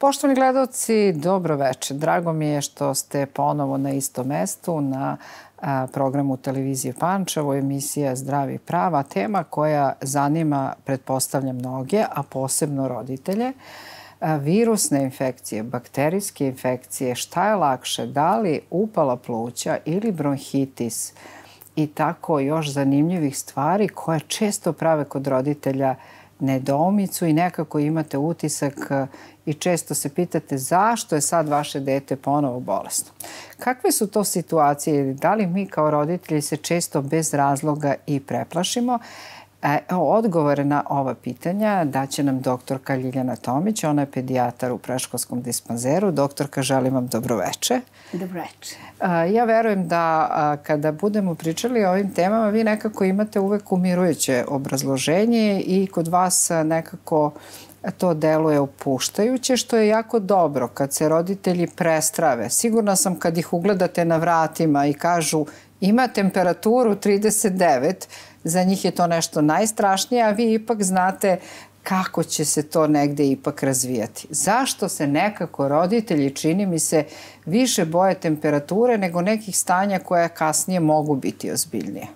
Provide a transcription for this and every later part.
Poštovani gledalci, dobro večer. Drago mi je što ste ponovo na istom mestu na programu televizije Pančevo, emisija Zdravi prava, tema koja zanima, pretpostavljam, mnoge, a posebno roditelje. Virusne infekcije, bakterijske infekcije, šta je lakše, da li upala pluća ili bronhitis i tako još zanimljivih stvari koje često prave kod roditelja nedoumicu i nekako imate utisak i često se pitate zašto je sad vaše dete ponovo bolesno. Kakve su to situacije? Da li mi kao roditelji se često bez razloga i preplašimo? Odgovore na ova pitanja daće nam doktorka Ljiljana Tomić. Ona je pedijatar u predškolskom dispanzeru. Doktorka, želim vam dobroveče. Dobroveče. Ja verujem da kada budemo pričali o ovim temama, vi nekako imate uvek umirujuće obrazloženje i kod vas nekako to deluje opuštajuće, što je jako dobro kad se roditelji prestrave. Sigurna sam kad ih ugledate na vratima i kažu ima temperaturu 39, za njih je to nešto najstrašnije, a vi ipak znate kako će se to negde ipak razvijati. Zašto se nekako roditelji, čini mi se, više boje temperature nego nekih stanja koja kasnije mogu biti ozbiljnije?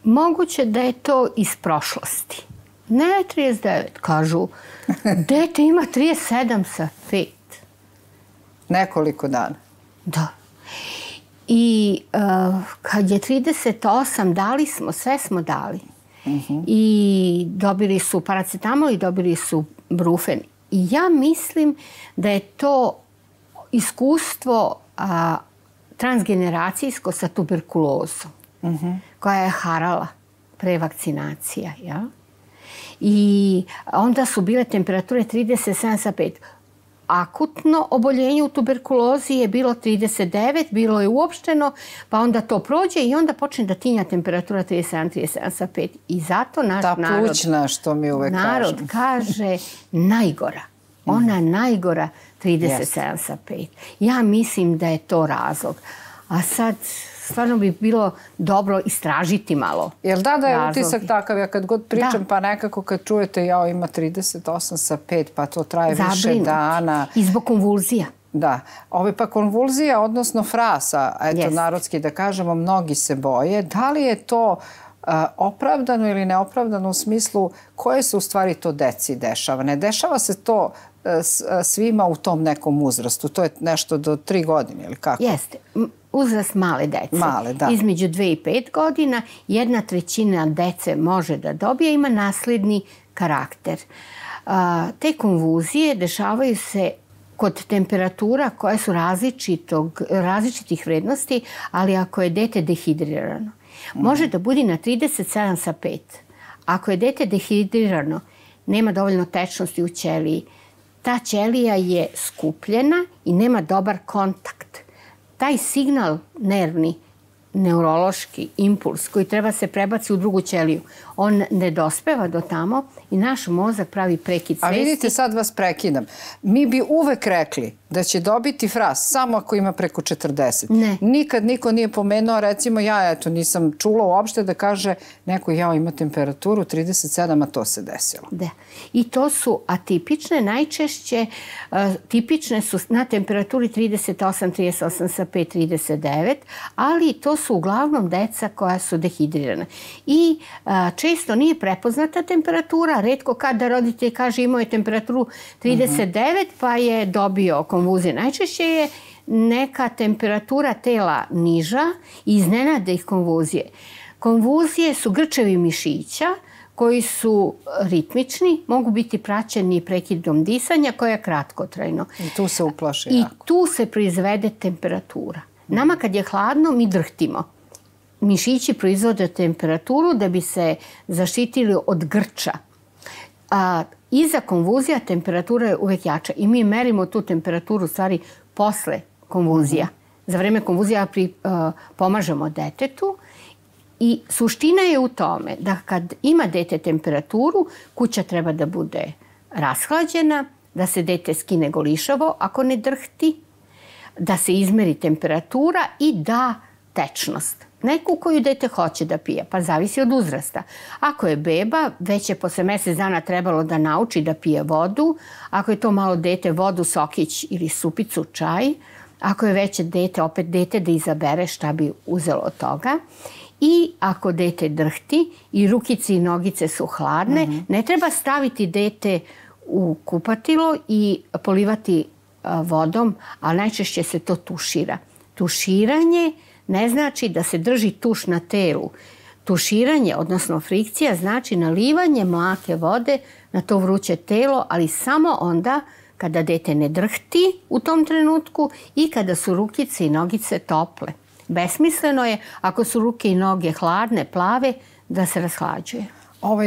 Moguće da je to iz prošlosti. Ne 39, kažu. Dete ima 37 sa 5. Nekoliko dana. Da. I kad je 38, dali smo, sve smo dali. I dobili su paracetamol i dobili su brufen. I ja mislim da je to iskustvo transgeneracijsko sa tuberkulozom, koja je harala pre vakcinacija. Ja? I onda su bile temperature 37 sa 5. Akutno oboljenje u tuberkulozi je bilo 39, bilo je uopšteno, pa onda to prođe i onda počne da tinja temperatura 37 sa 5. I zato naš narod... Ta plućna, što mi uvek kažem. Narod kaže najgora. Ona najgora 37 sa 5. Ja mislim da je to razlog. A sad... Stvarno bi bilo dobro istražiti malo. Jel da je utisak takav? Ja kad god pričam, pa nekako kad čujete jao ima 38 sa 5, pa to traje više dana. I zbog konvulzija. Da. Ove pa konvulzija, odnosno frasa, eto narodski da kažemo, mnogi se boje. Da li je to opravdano ili neopravdano u smislu koje se u stvari to deci dešava? Ne dešava se to svima u tom nekom uzrastu. To je nešto do 3 godine ili kako? Jeste. Uzrast male dece. Male, da. Između 2 i 5 godina 1/3 dece može da dobije, ima nasledni karakter. Te konvulzije dešavaju se kod temperatura koje su različitih vrednosti, ali ako je dete dehidrirano. Može da bude na 37 sa 5. Ako je dete dehidrirano, nema dovoljno tečnosti u ćeliji, ta ćelija je skupljena i nema dobar kontakt. Taj signal nervni, neurološki impuls koji treba se prebaci u drugu ćeliju, on ne dospeva do tamo i naš mozak pravi prekid svesti. A vidite, sad vas prekidam. Mi bi uvek rekli da će dobiti fras samo ako ima preko 40. Ne. Nikad niko nije pomenuo, recimo ja nisam čula uopšte da kaže neko ima temperaturu 37, a to se desilo. Da. I to su atipične, najčešće tipične su na temperaturi 38, 38 sa 5, 39, ali to su uglavnom deca koja su dehidrirana. I često nije prepoznata temperatura, retko kada roditelj kaže imao je temperaturu 39 pa je dobio konvulzije. Najčešće je neka temperatura tela niža i iznenade ih konvulzije. Konvulzije su grčevi mišića koji su ritmični, mogu biti praćeni prekidom disanja koja je kratkotrajno. I tu se uplaši jako. I tu se proizvede temperatura. Nama kad je hladno mi drhtimo. Mišići proizvode temperaturu da bi se zaštitili od grča. Iza konvulzija temperatura je uvek jača i mi merimo tu temperaturu u stvari posle konvulzija. Za vreme konvulzija pomažemo detetu i suština je u tome da kad ima dete temperaturu, kuća treba da bude rashlađena, da se dete skine golišavo ako ne drhti, da se izmeri temperatura i da tečnost. neku koju dete hoće da pije, pa zavisi od uzrasta. Ako je beba, već je posle mesec dana trebalo da nauči da pije vodu. Ako je to malo dete, vodu, sokić ili supicu, čaj. Ako je veće dete, opet dete da izabere šta bi uzelo od toga. I ako dete drhti i rukice i nogice su hladne, ne treba staviti dete u kupatilo i polivati vodom, ali najčešće se to tušira. Tuširanje ne znači da se drži tuš na telu. Tuširanje, odnosno frikcija, znači nalivanje mlake vode na to vruće telo, ali samo onda kada dete ne drhti u tom trenutku i kada su rukice i nogice tople. Besmisleno je, ako su ruke i noge hladne, plave, da se rashlađuje.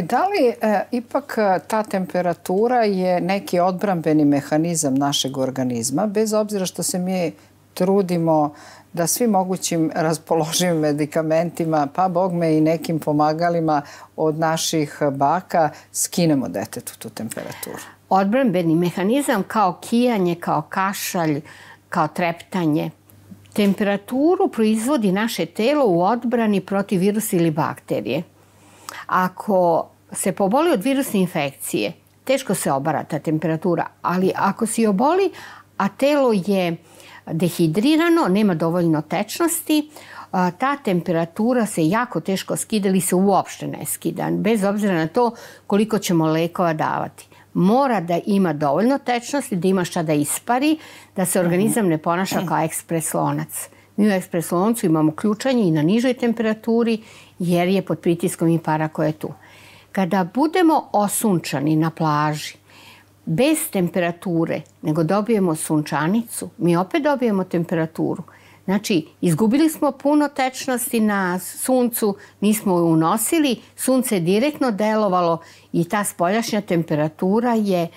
Da li ipak ta temperatura je neki odbrambeni mehanizam našeg organizma, bez obzira što se mi trudimo da svim mogućim raspoloživim medikamentima, pa bogme i nekim pomagalima od naših baka, skinemo detetu tu temperaturu? Odbrambeni mehanizam kao kijanje, kao kašalj, kao treptanje. Temperaturu proizvodi naše telo u odbrani protiv virusa ili bakterije. Ako se poboli od virusne infekcije, teško se obara ta temperatura, ali ako se oboli, a telo je dehidrirano, nema dovoljno tečnosti, ta temperatura se jako teško skida ili se uopšte ne skida, bez obzira na to koliko ćemo lekova davati. Mora da ima dovoljno tečnosti, da ima šta da ispari, da se organizam ne ponaša kao ekspres lonac. Mi u ekspres loncu imamo ključanje i na nižoj temperaturi jer je pod pritiskom i para koja je tu. Kada budemo osunčani na plaži, bez temperature, nego dobijemo sunčanicu, mi opet dobijemo temperaturu. Znači, izgubili smo puno tečnosti na suncu, nismo je unosili, sunce je direktno delovalo i ta spoljašnja temperatura je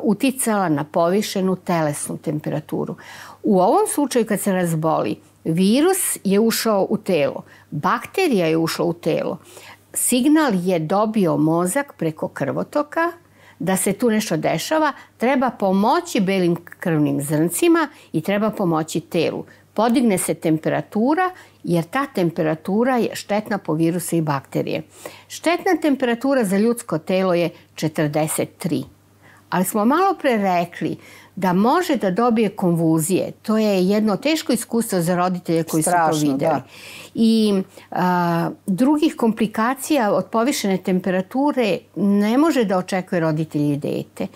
uticala na povišenu telesnu temperaturu. U ovom slučaju kad se razboli, virus je ušao u telo, bakterija je ušla u telo, signal je dobio mozak preko krvotoka, da se tu nešto dešava, treba pomoći belim krvnim zrncima i treba pomoći telu. Podigne se temperatura jer ta temperatura je štetna po virusa i bakterije. Štetna temperatura za ljudsko telo je 43. Ali smo malo pre rekli da može da dobije konvulzije. To je jedno teško iskustvo za roditelje koji su to videli. Da. I drugih komplikacija od povišene temperature ne može da očekuje roditelji i dete.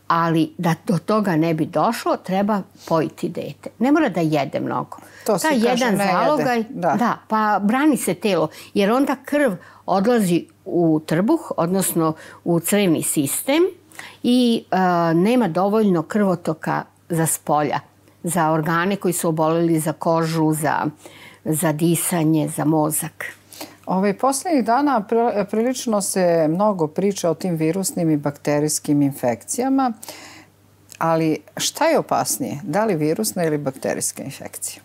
Ali da do toga ne bi došlo, treba pojiti dete. Ne mora da jede mnogo. To se kaže ne jede. Da, pa brani se telo. Jer onda krv odlazi u trbuh, odnosno u crevni sistem, i nema dovoljno krvotoka za spolja, za organe koji su oboleli, za kožu, za disanje, za mozak. Poslednjih dana prilično se mnogo priča o tim virusnim i bakterijskim infekcijama, ali šta je opasnije? Da li virusna ili bakterijska infekcija?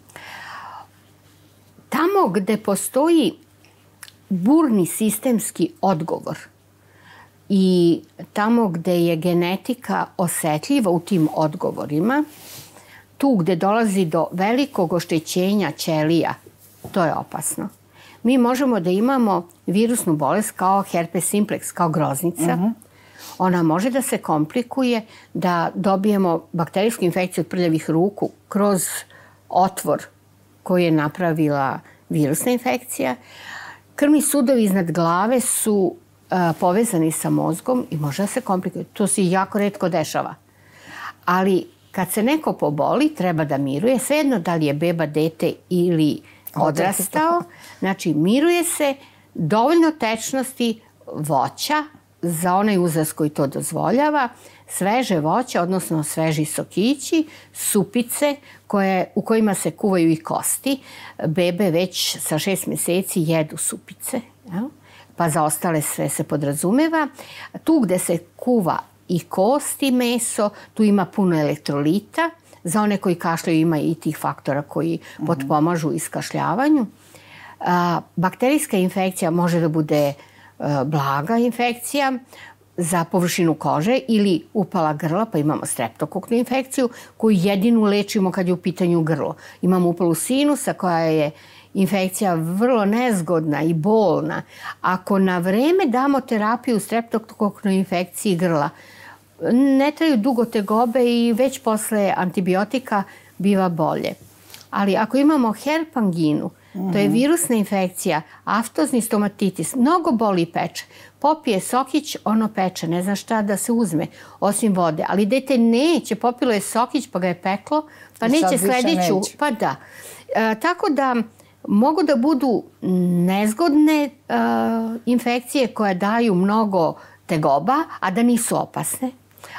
Tamo gde postoji burni sistemski odgovor i tamo gde je genetika osetljiva u tim odgovorima, tu gde dolazi do velikog oštećenja ćelija, to je opasno. Mi možemo da imamo virusnu bolest kao herpes simplex, kao groznica. Ona može da se komplikuje, da dobijemo bakterijsku infekciju od prljavih ruku kroz otvor koji je napravila virusna infekcija. Krvni sudovi iznad glave su povezani sa mozgom i može da se komplikuje. To se jako retko dešava. Ali kad se neko poboli, treba da miruje. Svejedno da li je beba, dete ili odrastao. Znači, miruje se, dovoljno tečnosti, voća za onaj uzrast koji to dozvoljava, sveže voće, odnosno sveži sokići, supice u kojima se kuvaju i kosti. Bebe već sa 6 meseci jedu supice, pa za ostale sve se podrazumeva. Tu gde se kuva i kosti, meso, tu ima puno elektrolita. Za one koji kašljaju ima i tih faktora koji potpomažu iskašljavanju. Bakterijska infekcija može da bude blaga infekcija za površinu kože ili upala grla, pa imamo streptokoknu infekciju koju jedinu lečimo kad je u pitanju grlo. Imamo upalu sinusa koja je infekcija vrlo nezgodna i bolna. Ako na vreme damo terapiju streptokoknoj infekciji grla, ne traju dugo tegobe i već posle antibiotika biva bolje. Ali ako imamo herpanginu, to je virusna infekcija, aftozni stomatitis, mnogo boli i peče. Popije sokić, ono peče, ne zna šta da se uzme, osim vode. Ali dete neće, popilo je sokić pa ga je peklo, pa neće sledeću. Pa da. Tako da mogu da budu nezgodne infekcije koje daju mnogo tegoba, a da nisu opasne.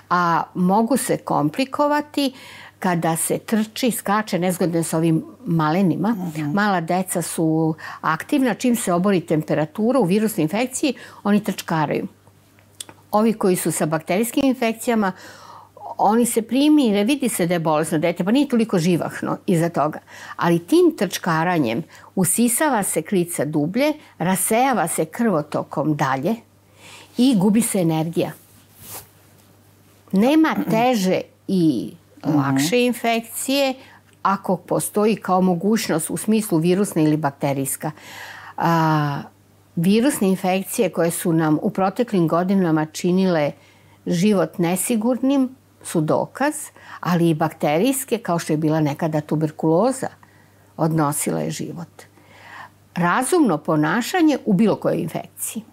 A mogu se komplikovati kada se trči, skače, nezgodne s ovim malenima. Mala deca su aktivna, čim se obori temperatura u virusnoj infekciji, oni trčkaraju. Ovi koji su sa bakterijskim infekcijama, oni se primire, vidi se da je bolesno dete, pa nije toliko živahno iza toga. Ali tim trčkaranjem usisava se klica dublje, rasejava se krvotokom dalje i gubi se energija. Nema teže i lakše infekcije ako postoji kao mogućnost u smislu virusna ili bakterijska. Virusne infekcije koje su nam u proteklim godinama činile život nesigurnim su dokaz, ali i bakterijske, kao što je bila nekada tuberkuloza, odnosila je život. Razumno ponašanje u bilo kojoj infekciji.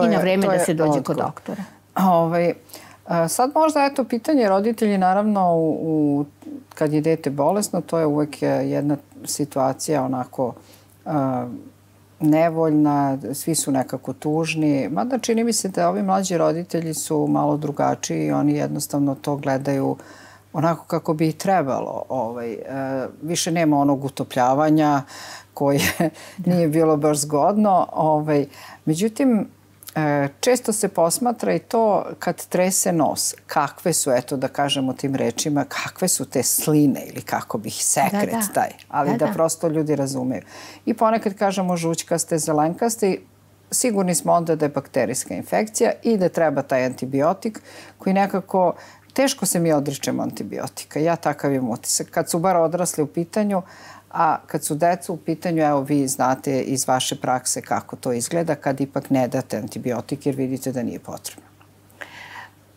I na vreme da se dođe kod doktora. Sad možda pitanje roditelji, naravno kad je dete bolesno, to je uvek jedna situacija onako nevoljna, svi su nekako tužni. Mada čini mi se da ovi mlađi roditelji su malo drugačiji i oni jednostavno to gledaju onako kako bi i trebalo. Više nema onog utopljavanja koje nije bilo baš zgodno. Međutim, često se posmatra i to kad trese nos. Kakve su, eto da kažemo tim rečima, kakve su te sline ili kako bih sekret taj. Ali da prosto ljudi razumeju. I ponekad kažemo žućkaste, zelenkaste, sigurni smo onda da je bakterijska infekcija i da treba taj antibiotik koji nekako, teško se mi odričemo antibiotika. Ja takav imam utisak. Kad su bar odrasli u pitanju, a kad su deca u pitanju, evo vi znate iz vaše prakse kako to izgleda kad ipak ne date antibiotik jer vidite da nije potrebno.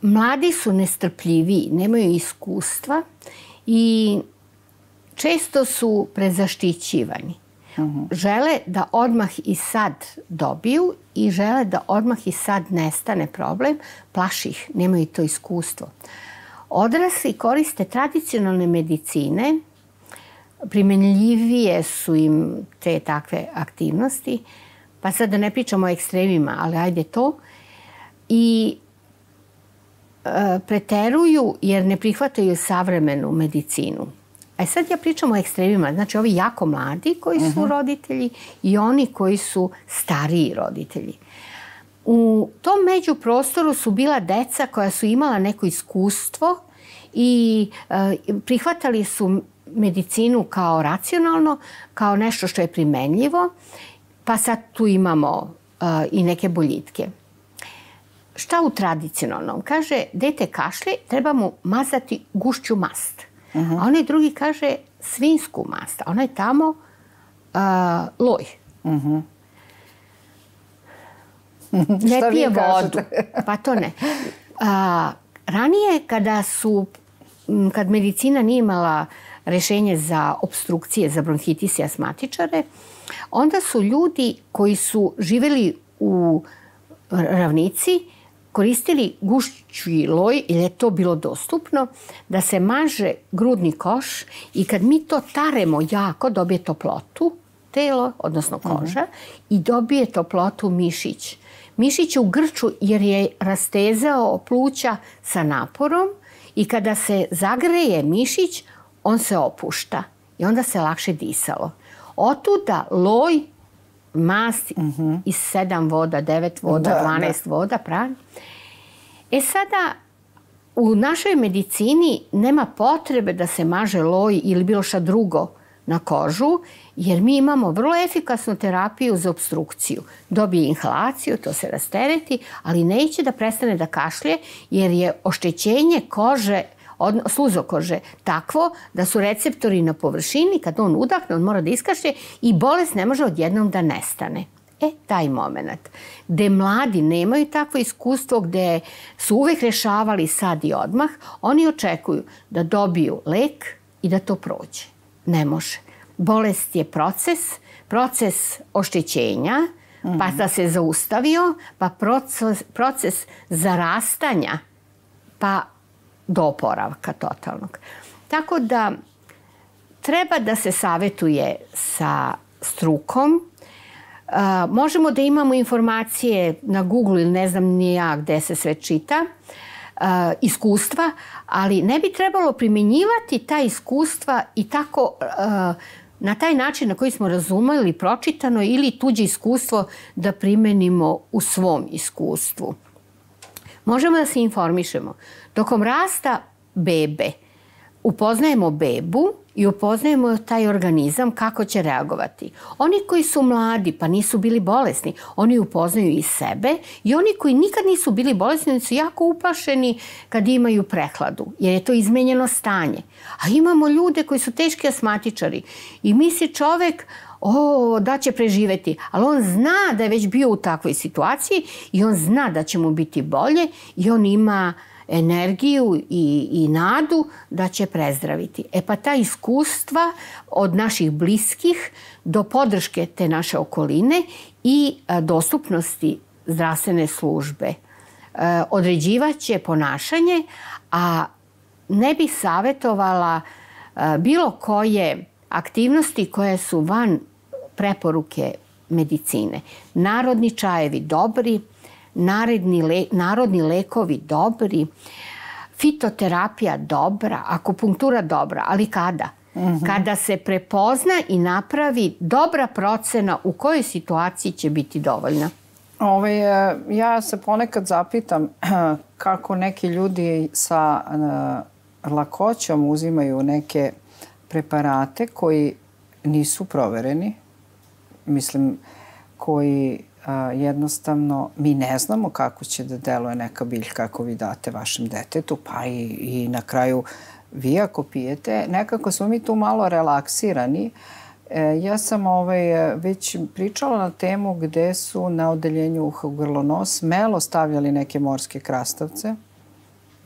Mladi su nestrpljiviji, nemaju iskustva i često su prezaštićivani. Žele da odmah i sad dobiju i žele da odmah i sad nestane problem, plaši ih, nemaju to iskustvo. Odrasli koriste tradicionalne medicine, primenljivije su im te takve aktivnosti, pa sad da ne pričamo o ekstremima, ali ajde to, i preteruju jer ne prihvataju savremenu medicinu. A sad ja pričam o ekstremima, znači ovi jako mladi koji su roditelji i oni koji su stariji roditelji. U tom međuprostoru su bila deca koja su imala neko iskustvo i prihvatali su medicinu kao racionalno, kao nešto što je primenljivo, pa sad tu imamo i neke boljitke. Šta u tradicionalnom? Kaže, dete kašlje, treba mu mazati gušću mast. A onaj drugi kaže svinsku mast, a onaj tamo loj. Ne pije vodu. Pa to ne. Ranije kad medicina nije imala rešenje za opstrukcije, za bronhitis i asmatičare, onda su ljudi koji su živeli u ravnici koristili gušći loj, jer je to bilo dostupno, da se maže grudni koš i kad mi to taremo jako, dobije toplotu telo, odnosno koža, i dobije toplotu mišić. Mišić je u grču jer je rastezao pluća sa naporom i kada se zagreje mišić, on se opušta i onda se lakše disalo. Otuda loj, mast iz 7 voda, 9 voda, 12 voda, pravi. Sada, u našoj medicini nema potrebe da se maže loj ili bilo šta drugo na kožu, jer mi imamo vrlo efikasnu terapiju za opstrukciju. Dobije inhalaciju, to se rastereti, ali neće da prestane da kašlje, jer je oštećenje kože sluzokože takvo da su receptori na površini, kad on udahne, on mora da iskašlje i bolest ne može odjednom da nestane. Taj moment. Gde mladi nemaju takvo iskustvo, gde su uvek rešavali sad i odmah, oni očekuju da dobiju lek i da to prođe. Ne može. Bolest je proces oštećenja, pa da se zaustavio, pa proces zarastanja, pa do oporavka totalnog. Tako da treba da se savetuje sa strukom. Možemo da imamo informacije na Google ili ne znam ni ja gde se sve čita, iskustva, ali ne bi trebalo primjenjivati ta iskustva i tako na taj način na koji smo razumeli pročitano ili tuđe iskustvo da primenimo u svom iskustvu. Možemo da se informišemo. Tokom rasta bebe upoznajemo bebu i upoznajemo taj organizam kako će reagovati. Oni koji su mladi pa nisu bili bolesni, oni upoznaju i sebe i oni koji nikad nisu bili bolesni, oni su jako uplašeni kad imaju prehladu, jer je to izmenjeno stanje. A imamo ljude koji su teški asmatičari i misli čovek da će preživeti, ali on zna da je već bio u takvoj situaciji i on zna da će mu biti bolje i on ima energiju i nadu da će prezdraviti. Pa ta iskustva od naših bliskih do podrške te naše okoline i dostupnosti zdravstvene službe određivaće ponašanje, a ne bih savjetovala bilo koje aktivnosti koje su van preporuke medicine. Narodni čajevi dobri, narodni lekovi dobri, fitoterapija dobra, akupunktura dobra, ali kada? Kada se prepozna i napravi dobra procena u kojoj situaciji će biti dovoljna. Ja se ponekad zapitam kako neki ljudi sa lakoćom uzimaju neke preparate koji nisu provereni, mislim, koji jednostavno mi ne znamo kako će da deluje neka biljka ako vi date vašem detetu, pa i na kraju vi ako pijete, nekako smo mi tu malo relaksirani. Ja sam već pričala na temu gde su na odeljenju uha, grlo, nos smelo stavljali neke morske krastavce,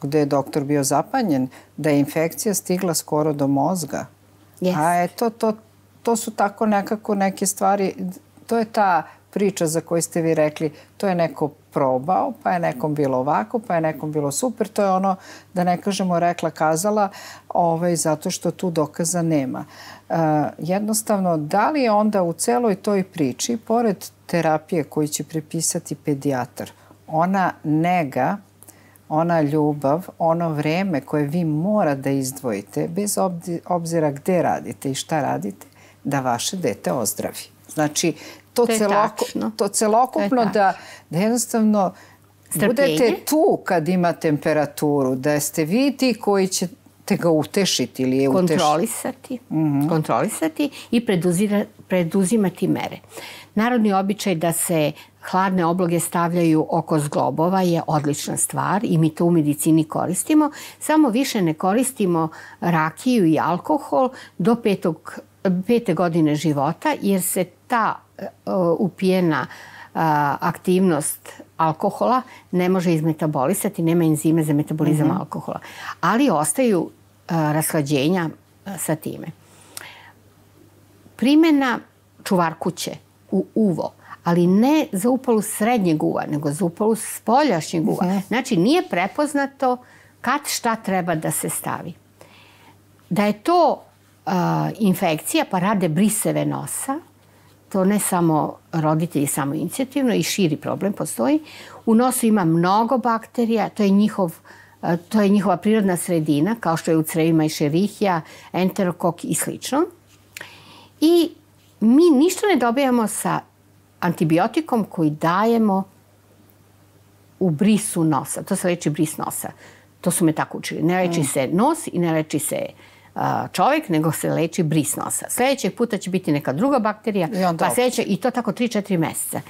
gde je doktor bio zapanjen da je infekcija stigla skoro do mozga. A to su tako nekako neke stvari, to je ta priča za koju ste vi rekli, to je neko probao, pa je nekom bilo ovako, pa je nekom bilo super. To je ono, da ne kažemo rekla kazala, zato što tu dokaza nema. Jednostavno, da li je onda u celoj toj priči, pored terapije koju će prepisati pedijatar, ona nega, ona ljubav, ono vreme koje vi mora da izdvojite, bez obzira gde radite i šta radite, da vaše dete ozdravi. Znači, to celokupno da jednostavno budete tu kad ima temperaturu, da ste vi ti koji ćete ga utešiti ili je utešiti. Kontrolisati i preduzimati mere. Narodni običaj da se hladne obloge stavljaju oko zglobova je odlična stvar i mi to u medicini koristimo. Samo više ne koristimo rakiju i alkohol do 5. godine života, jer se ta upijena aktivnost alkohola ne može izmetabolisati, nema enzime za metabolizam alkohola. Ali ostaju rashlađenja sa time. Primjena čuvarkuće u uvo, ali ne za upalu srednjeg uva, nego za upalu spoljašnjeg uva. Znači, nije prepoznato kad šta treba da se stavi. Da je to infekcija, pa rade briseve nosa, to ne samo roditelji samoinicijativno i širi problem postoji. U nosu ima mnogo bakterija, to je njihova prirodna sredina, kao što je u crevima Escherichia, enterokok i slično. I mi ništa ne dobijamo sa antibiotikom koji dajemo u brisu nosa. To se leči bris nosa. To su me tako učili. Ne leči se nos i ne leči se čovjek, nego se leči bris nosa. Sljedećeg puta će biti neka druga bakterija, pa sljedeće, i to tako 3-4 meseca.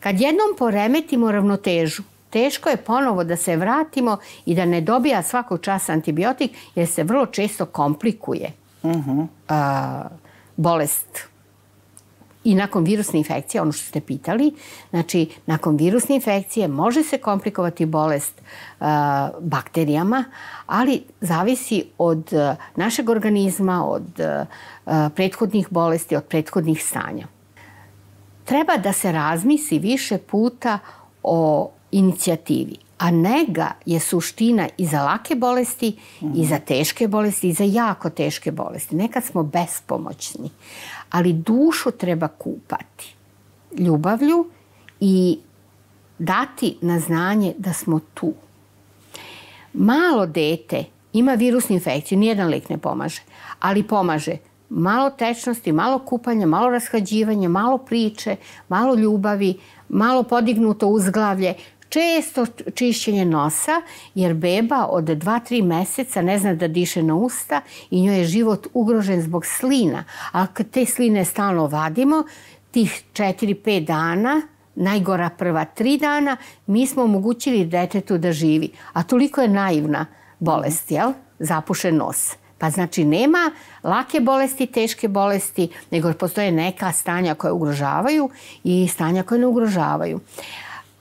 Kad jednom poremetimo ravnotežu teško je ponovo da se vratimo i da ne dobija svakog časa antibiotik, jer se vrlo često komplikuje bolest. I nakon virusne infekcije, ono što ste pitali, znači nakon virusne infekcije može se komplikovati bolest bakterijama, ali zavisi od našeg organizma, od prethodnih bolesti, od prethodnih stanja. Treba da se razmisli više puta o inicijativi, a nega je suština i za lake bolesti, i za teške bolesti, i za jako teške bolesti. Nekad smo bespomoćni, ali dušu treba kupati ljubavlju i dati na znanje da smo tu. Malo dete ima virusnu infekciju, nijedan lek ne pomaže, ali pomaže malo tečnosti, malo kupanja, malo rashlađivanja, malo priče, malo ljubavi, malo podignuto uzglavlje, često čišćenje nosa, jer beba od 2-3 meseca ne zna da diše na usta i njoj je život ugrožen zbog slina. A kad te sline stalno vadimo, tih 4-5 dana, najgora prva 3 dana, mi smo omogućili detetu da živi. A toliko je naivna bolest, jel? Zapušen nos. Pa znači nema lake bolesti, teške bolesti, nego postoje neka stanja koje ugrožavaju i stanja koje ne ugrožavaju.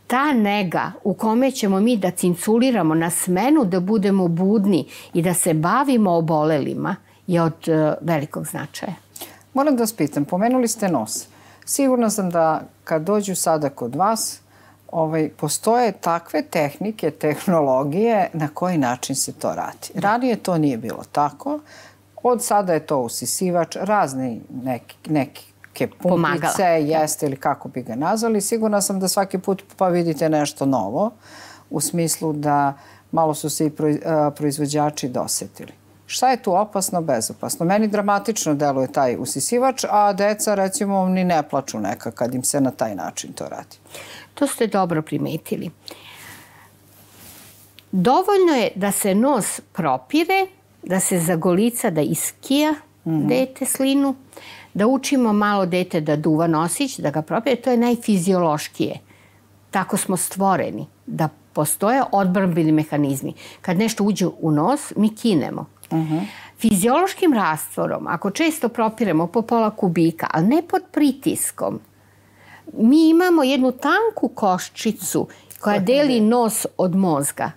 Ta nega u kome ćemo mi da cinculiramo na smenu, da budemo budni i da se bavimo obolelima je od velikog značaja. Moram da vas pitam, pomenuli ste nos. Sigurna sam da kad dođu sada kod vas, postoje takve tehnike, tehnologije na koji način se to radi. Ranije to nije bilo tako. Od sada je to usisivač, razne neke pumpice, jeste ili kako bi ga nazvali. Sigurna sam da svaki put pa vidite nešto novo, u smislu da malo su se i proizvođači dosetili. Šta je tu opasno, bezopasno? Meni dramatično deluje taj usisivač, a deca recimo ni ne plaču neka kad im se na taj način to radi. To ste dobro primetili. Dovoljno je da se nos propire, da se zagolica, da iskija dete slinu, da učimo malo dete da duva nosić, da ga propire. To je najfiziološkije. Tako smo stvoreni, da postoje odbrambeni mehanizmi. Kad nešto uđe u nos, mi kinemo. Fiziološkim rastvorom, ako često propiremo po pola kubika, ali ne pod pritiskom, mi imamo jednu tanku koščicu koja deli nos od mozga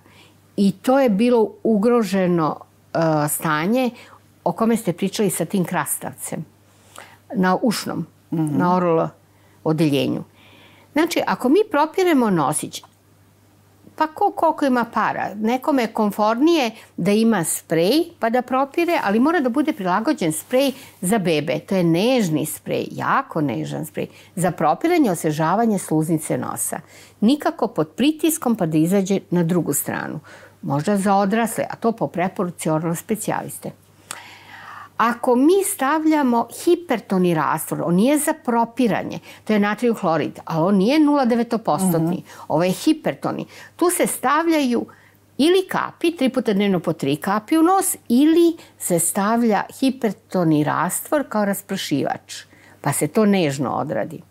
i to je bilo ugroženo stanje o kome ste pričali sa tim krastavcem na ušnom, na oral odeljenju. Znači, ako mi propiremo nosić, pa koliko ima para. Nekome je komfornije da ima sprej pa da propire, ali mora da bude prilagođen sprej za bebe. To je nežni sprej, jako nežan sprej, za propiranje, osvežavanje sluznice nosa. Nikako pod pritiskom pa da izađe na drugu stranu. Možda za odrasle, a to po preporuci oral specijaliste. Ako mi stavljamo hipertoni rastvor, on nije za propiranje, to je natrijev hlorid, ali on nije 0,9%. Ovo je hipertoni. Tu se stavljaju ili kapi, 3 puta dnevno po 3 kapi u nos, ili se stavlja hipertoni rastvor kao raspršivač, pa se to nežno odradi.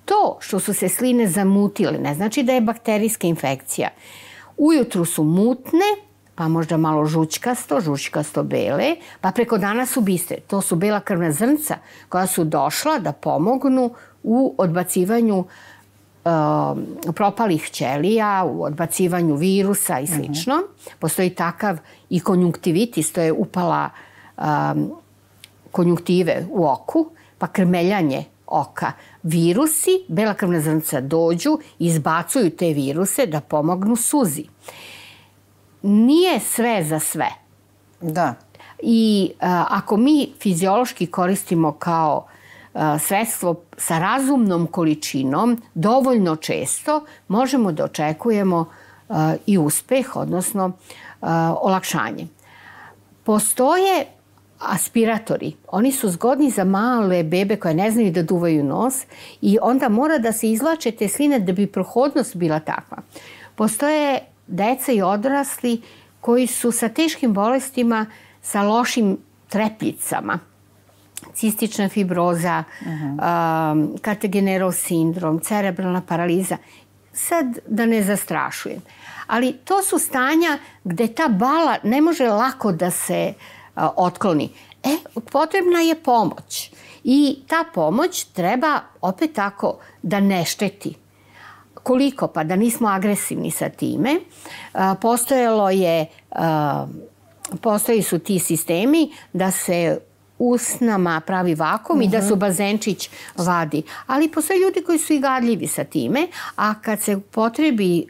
To što su se sline zamutile ne znači da je bakterijska infekcija. Ujutru su mutne, pa možda malo žućkasto bele, pa preko dana su bistre. To su bela krvna zrnca koja su došla da pomognu u odbacivanju propalih ćelija, u odbacivanju virusa i slično. Postoji takav i konjunktivitis, to je upala konjunktive u oku, pa krmeljanje oka. Virusi, bela krvna zrnca dođu, izbacuju te viruse da pomognu suzi. Nije sve za sve. Da. I ako mi fiziološki koristimo kao sredstvo sa razumnom količinom, dovoljno često, možemo da očekujemo i uspeh, odnosno olakšanje. Postoje aspiratori. Oni su zgodni za male bebe koje ne znaju da duvaju nos i onda mora da se izvlače te sline da bi prohodnost bila takva. Postoje deca i odrasli koji su sa teškim bolestima, sa lošim trepljicama, cistična fibroza, Cartegenerov sindrom, cerebralna paraliza. sad da ne zastrašujem, ali to su stanja gde ta bala ne može lako da se otkloni. Potrebna je pomoć i ta pomoć treba opet tako da ne šteti. Koliko? Pa da nismo agresivni sa time. Postoji su ti sistemi da se usnama pravi vakum i da su bazenčić vadi. Ali postoje ljudi koji su i gadljivi sa time, a kad se potrebi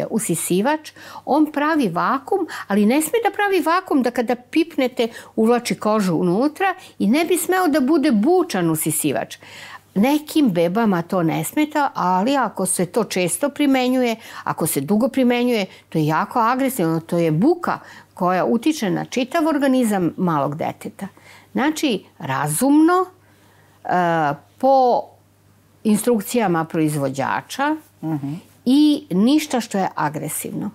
usisivač, on pravi vakum, ali ne sme da pravi vakum da kada pipnete uvlači kožu unutra i ne bi smeo da bude bučan usisivač. Nekim bebama to ne smeta, ali ako se to često primenjuje, ako se dugo primenjuje, to je jako agresivno, to je buka koja utiče na čitav organizam malog deteta. Znači, razumno, po instrukcijama proizvođača i ništa što je agresivno.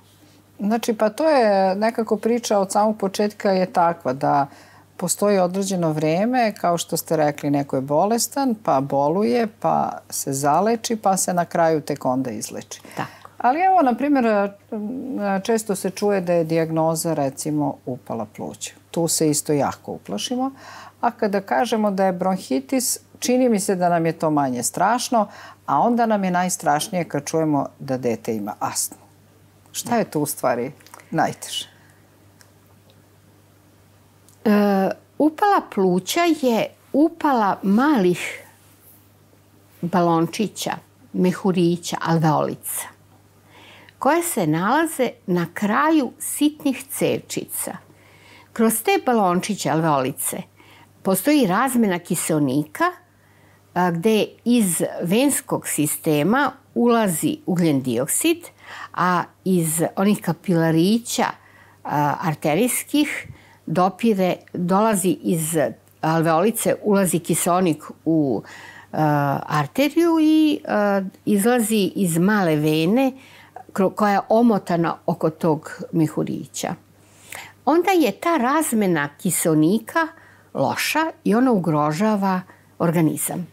Znači, pa to je nekako priča od samog početka je takva da postoji određeno vreme, kao što ste rekli, neko je bolestan, pa boluje, pa se zaleči, pa se na kraju tek onda izleči. Tako. Ali evo, na primjer, često se čuje da je dijagnoza, recimo, upala pluća. Tu se isto jako uplašimo. A kada kažemo da je bronhitis, čini mi se da nam je to manje strašno, a onda nam je najstrašnije kad čujemo da dete ima astmu. Šta je tu u stvari najteže? Upala pluća je upala malih balončića, mehurića, alveolica, koje se nalaze na kraju sitnih cevčica. Kroz te balončiće, alveolice, postoji razmena kiseonika gde iz venskog sistema ulazi ugljen dioksid, a iz onih kapilarića arterijskih dolazi iz alveolice, ulazi kiseonik u arteriju i izlazi iz male vene koja je omotana oko tog mehurića. Onda je ta razmena kiseonika loša i ona ugrožava organizam.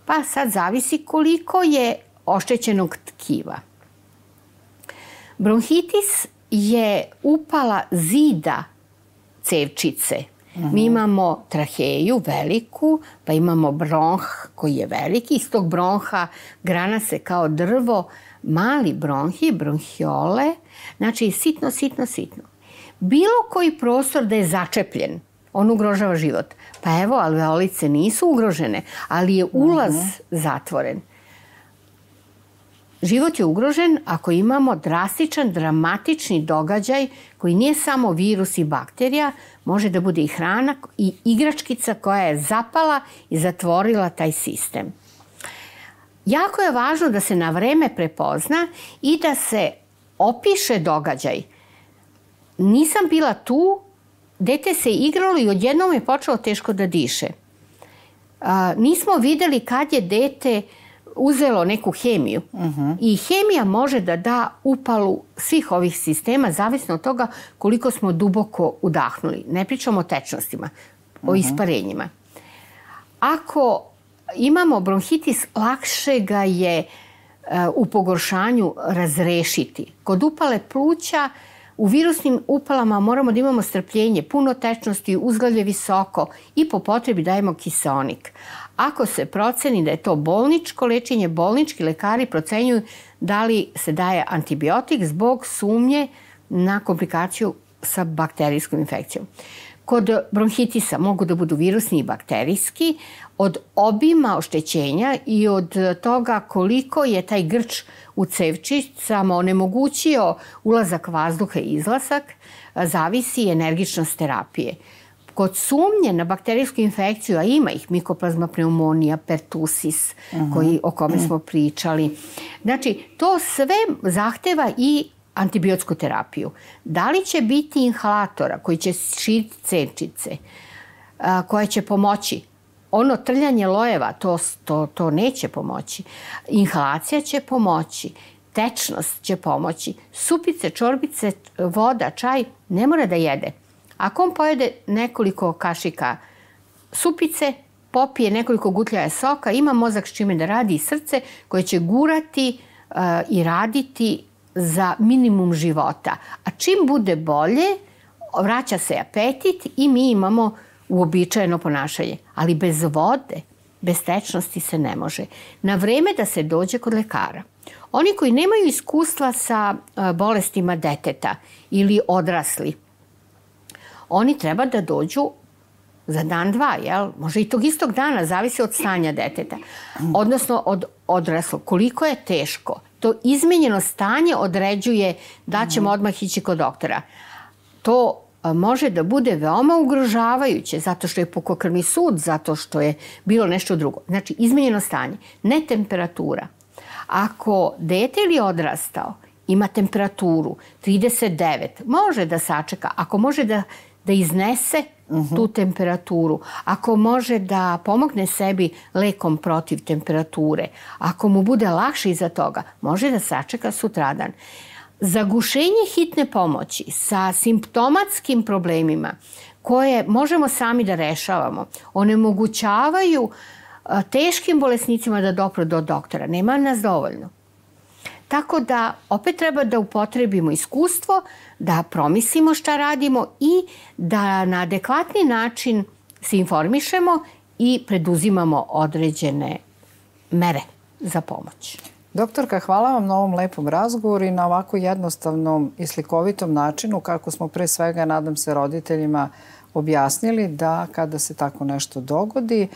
Pa sad zavisi koliko je oštećenog tkiva. Bronhitis je upala zida cevčice. Mi imamo traheju veliku, pa imamo bronh koji je veliki. Iz tog bronha grana se kao drvo, mali bronhi, bronhiole, znači sitno, sitno, sitno. Bilo koji prostor da je začepljen, on ugrožava život. Pa evo, alveolice nisu ugrožene, ali je ulaz zatvoren. Život je ugrožen ako imamo drastičan, dramatični događaj koji nije samo virus i bakterija, može da bude i hrana i igračkica koja je zapala i zatvorila taj sistem. Jako je važno da se na vreme prepozna i da se opiše događaj. Nisam bila tu, dete se igralo i odjednom je počelo teško da diše. Nismo videli kad je dete uzelo neku hemiju. I hemija može da da upalu svih ovih sistema, zavisno od toga koliko smo duboko udahnuli. Ne pričamo o tečnostima, o isparenjima. Ako imamo bronhitis, lakše ga je u pogoršanju razrešiti. Kod upale pluća, u virusnim upalama moramo da imamo strpljenje, puno tečnosti, uzglavlje visoko i po potrebi dajemo kiseonik. Ako se proceni da je to bolničko lečenje, bolnički lekari procenjuju da li se daje antibiotik zbog sumnje na komplikaciju sa bakterijskom infekcijom. Kod bronhitisa mogu da budu virusni i bakterijski. Od obima oštećenja i od toga koliko je taj grč u cevčicama onemogućio ulazak vazduha i izlazak, zavisi energičnost terapije. Kod sumnje na bakterijsku infekciju, a ima ih, mikoplazma pneumonija, pertusis, o kome smo pričali. Znači, to sve zahteva i antibiotsku terapiju. Da li će biti inhalatora koji će širiti cevčice, koja će pomoći? Ono trljanje lojeva, to neće pomoći. Inhalacija će pomoći. Tečnost će pomoći. Supice, čorbice, voda, čaj ne mora da jede. Ako on pojede nekoliko kašika supice, popije nekoliko gutljaja soka, ima mozak s čime da radi i srce koje će gurati i raditi za minimum života. A čim bude bolje, vraća se apetit i mi imamo uobičajeno ponašanje. Ali bez vode, bez tečnosti se ne može. Na vreme da se dođe kod lekara. Oni koji nemaju iskustva sa bolestima deteta ili odrasli, oni treba da dođu za dan, dva, jel? Može i tog istog dana, zavisi od stanja deteta. Odnosno od odraslog. Koliko je teško. To izmenjeno stanje određuje da ćemo odmah ići kod doktora. To može da bude veoma ugrožavajuće zato što je pukokrvni sud, zato što je bilo nešto drugo. Znači, izmenjeno stanje, ne temperatura. Ako dete ili odrastao ima temperaturu 39, može da sačeka. Ako može da iznese tu temperaturu, ako može da pomogne sebi lekom protiv temperature, ako mu bude lakše iza toga, može da sačeka sutradan. Zagušenje hitne pomoći sa simptomatskim problemima koje možemo sami da rešavamo, onemogućavaju teškim bolesnicima da dopru do doktora. Nema nas dovoljno. Tako da opet treba da upotrebimo iskustvo, da promislimo šta radimo i da na adekvatni način se informišemo i preduzimamo određene mere za pomoć. Doktorka, hvala vam na ovom lepom razgovoru i na ovako jednostavnom i slikovitom načinu kako smo pre svega, nadam se, roditeljima objasnili da kada se tako nešto dogodi,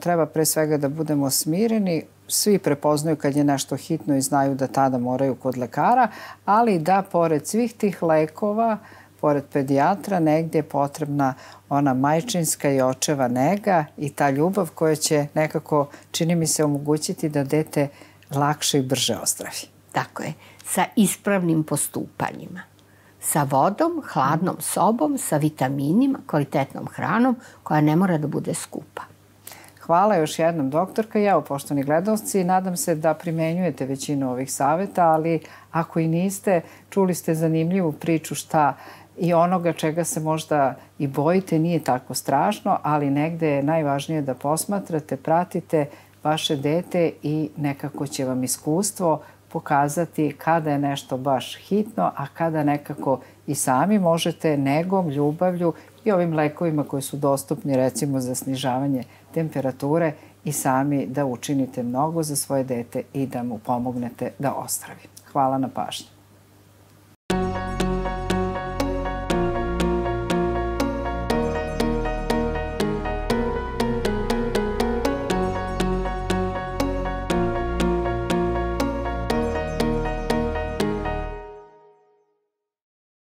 treba pre svega da budemo smireni. Svi prepoznaju kad je nešto hitno i znaju da tada moraju kod lekara, ali da pored svih tih lekova, pored pedijatra, negdje je potrebna ona majčinska i očeva nega i ta ljubav koja će nekako, čini mi se, omogućiti da dete lakše i brže ozdravi. Tako je, sa ispravnim postupanjima. Sa vodom, hladnom sobom, sa vitaminima, kvalitetnom hranom koja ne mora da bude skupa. Hvala još jednom, doktorka. Evo, poštovani gledalci, nadam se da primenjujete većinu ovih savjeta, ali ako i niste, čuli ste zanimljivu priču šta i onoga čega se možda i bojite, nije tako strašno, ali negde je najvažnije da posmatrate, pratite vaše dete i nekako će vam iskustvo pokazati kada je nešto baš hitno, a kada nekako i sami možete negom, ljubavlju i ovim lekovima koji su dostupni recimo za snižavanje temperature i sami da učinite mnogo za svoje dete i da mu pomognete da ozdravi. Hvala na pažnji.